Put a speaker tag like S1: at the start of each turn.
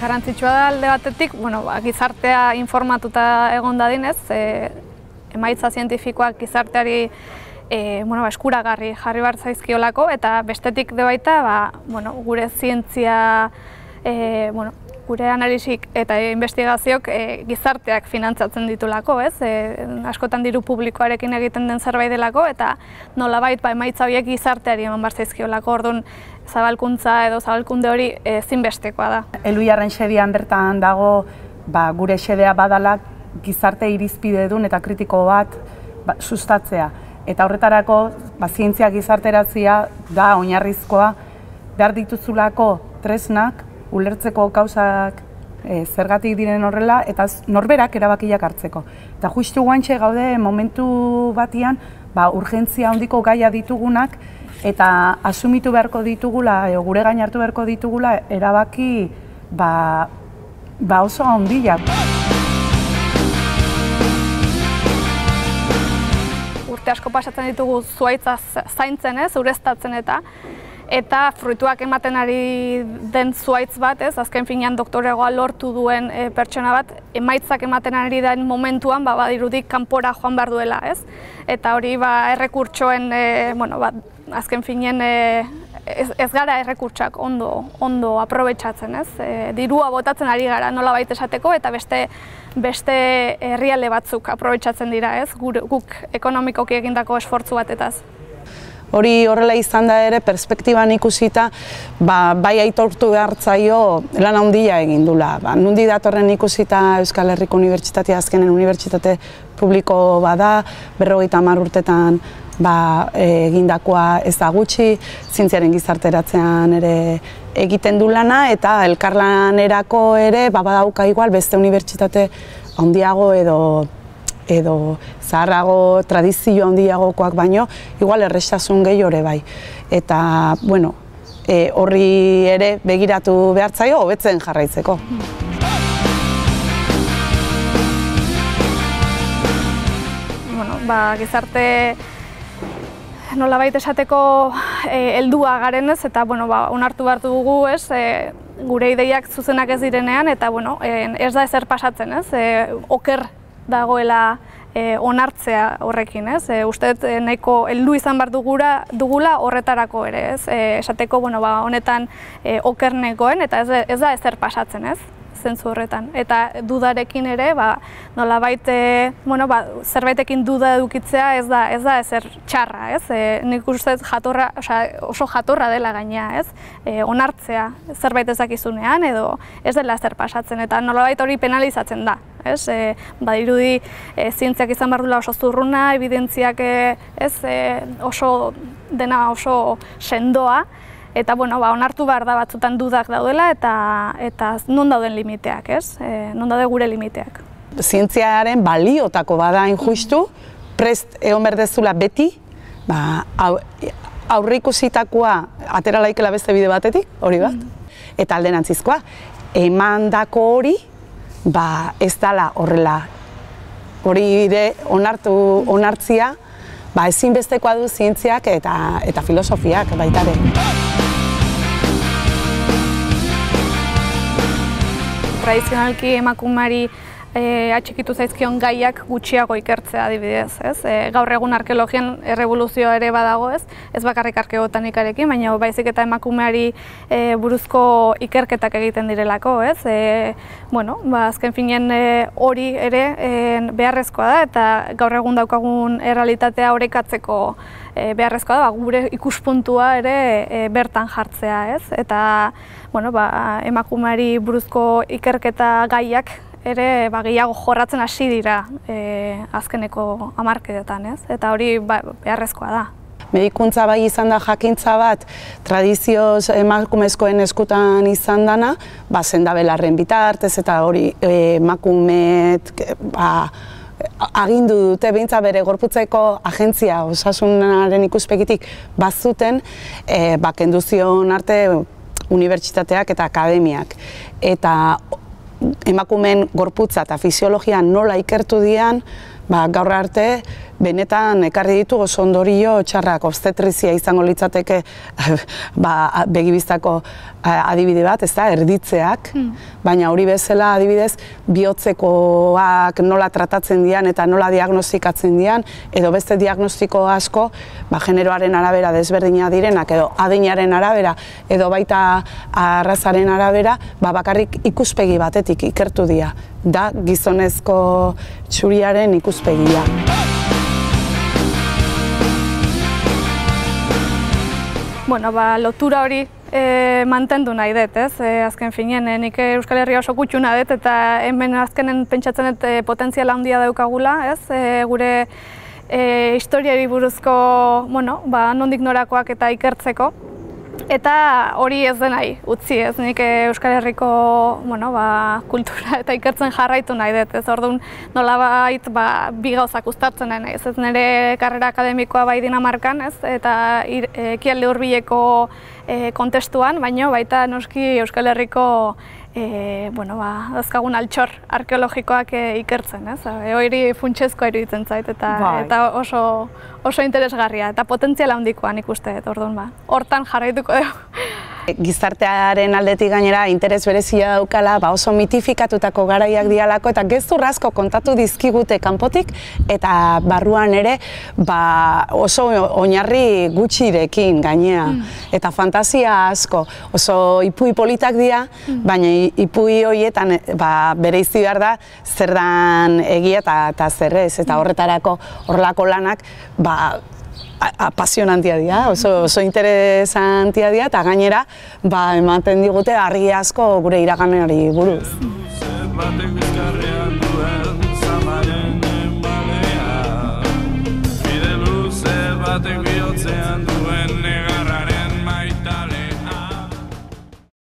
S1: Garrantzitsua da alde batetik, gizartea informatuta egon dadinez, emaitza zientifikoak gizarteari eskuragarri jarri behar zaizkiolako, eta bestetik de baita gure zientzia, gure analisik eta investigazioak gizarteak finantzatzen ditulako, askotan diru publikoarekin egiten den zerbait delako, eta nolabait emaitza horiek gizarteari eman behar zaizkiolako, orduan zabalkuntza edo zabalkunde hori ezinbestekoa da.
S2: Elhuyarren xedean bertan dago gure xedea badala gizarte irizpidedun eta kritiko bat sustatzea. Eta horretarako zientzia gizarteratzea da oinarrizkoa, behar dituzulako tresnak, ulertzeko gauzak zergatik diren horrela, eta norberak erabakiak hartzeko. Eta justu guantxe gaude momentu batian, urgentzia handiko gaia ditugunak, eta asumitu beharko ditugula, gure gain hartu beharko ditugula, erabaki oso handiak.
S1: Urte asko pasatzen ditugu zuhaitza zaintzen, ureztatzen eta fruituak ematen ari den zuhaitz bat, azken finean doktoregoa lortu duen pertsona bat, emaitzak ematen ari den momentuan badirudik kanpora joan behar duela, eta hori errekurtsoen, azken finean ez gara errekurtsak ondo aprobetxatzen, dirua botatzen ari gara nolabait esateko, eta beste herrialde batzuk aprobetxatzen dira, guk ekonomikoki egindako esfortzu batetaz.
S3: Hori horrela izan da ere, perspektiban ikusita, bai aitortu behartzaio lan handia egin dula. Nundi datorren ikusita Euskal Herriko Unibertsitatea azkenen unibertsitate publiko bada, 50 urtetan egindakoa ez da gutxi, zientziaren gizarteratzean ere egiten du lana, eta elkarlanerako ere badauka igual beste unibertsitate handiago edo zaharrago, tradizio handiagokoak baino, igual errestasun gehiore bai. Eta, horri ere begiratu behartzaio, hobetzen jarraitzeko.
S1: Gizarte nolabait esateko heldua garenez, eta onartu behar dugu, gure ideiak zuzenak ez direnean, eta ez da ezer pasatzen, oker dagoela onartzea horrekin, uste nahiko heldu izan behar dugula horretarako ere, esateko honetan oker negoen, eta ez da ezer pasatzen, zentzu horretan. Eta dudarekin ere, nolabait zerbaitekin duda edukitzea ez da ezer txarra, nik uste oso jatorra dela gainea, onartzea zerbait ez dakizunean edo ez dela ezer pasatzen, eta nolabait hori penalizatzen da. Badirudi zientziak izan behar duela oso zurruna, evidentziak dena oso sendoa, eta onartu behar da batzutan dudak daudela eta non dauden limiteak, non daude gure limiteak.
S3: Zientziaren baliotako bada justu, prest egon berdezula beti, aurreikusitakoa atera laikela beste bide batetik, hori bat, eta alderantzizkoa, emandako hori, ez dela horrela, hori ere onartzia, ezinbestekoa du zientziak eta filosofiak baitare.
S1: Tradizionalki emakumeari atxikitu zaizkion gaiak gutxiago ikertzea adibidez, gaur egun arkeologian errevoluzioa ere badago, ez bakarrik arkeobotanikarekin, baina baizik eta emakumeari buruzko ikerketak egiten direlako, azken finean hori ere beharrezkoa da, eta gaur egun daukagun errealitatea orekatzeko beharrezkoa da, gure ikuspuntua ere bertan jartzea, eta emakumeari buruzko ikerketa gaiak ere gehiago jorratzen hasi dira azkeneko hamarkadetan, eta hori beharrezkoa da.
S3: Medikuntza bai izan da jakintza bat, tradizioz emakumezkoen eskutan izan dana, sendabelarren bitartez eta hori emakumeet agindu dute behintzat bere gorputzeko agentzia osasunaren ikuspegitik bazuten, kendu zion arte unibertsitateak eta akademiak. Eta emakumeen gorputza eta fisiologia nola ikertu dian, gaur arte benetan ekarri ditu oso ondorio txarrak. Obstetrizia izango litzateke begibistako adibide bat, ez da, erditzeak, baina hori bezala adibidez bihotzekoak nola tratatzen dian eta nola diagnostikatzen dian, edo beste diagnostiko asko generoaren arabera desberdina direnak, edo adinaren arabera, edo baita arrazaren arabera, bakarrik ikuspegi batetik ikertu dira. Da gizonezko txuriaren ikuspegia.
S1: Bueno, lotura hori mantendu nahi dut, ez? Azken finean, nik Euskal Herria oso gutxuna dut, eta hemen azkenen pentsatzen dut potentziala handia daukagula, ez? Gure historiari buruzko, nondik norakoak eta ikertzeko. Eta hori ez denai utzi, ez? Nik Euskal Herriko kultura eta ikertzen jarraitu nahi dut, ez? Orduan nolabait bi gauzak uztartzen nahi, ez? Nire karrera akademikoa bai Dinamarkan, ez? Eta ekialde hurbileko kontestuan, baina baita noski Euskal Herriko dauzkagun altxor arkeologikoak ikertzen, ez? Hori funtsezkoa iruditzen zait, eta oso interesgarria, eta potentziala handikoa nik uste, orduan hortan jarraituko dugu.
S3: Gizartearen aldetik gainera interes berezia daukala, oso mitifikatutako garaiak dialako, eta gezur asko kontatu dizkigute kanpotik, eta barruan ere oso oinarri gutxirekin gainea. Eta fantasia asko, oso ipui politak dira, baina ipui horietan bereizi behar da zer dan egia eta zerrez, eta horretarako horrelako lanak apasionantia dira, oso interesantia dira, eta gainera ematen digute argi asko gure iraganari buruz.
S4: Bide luze batek bihotzean du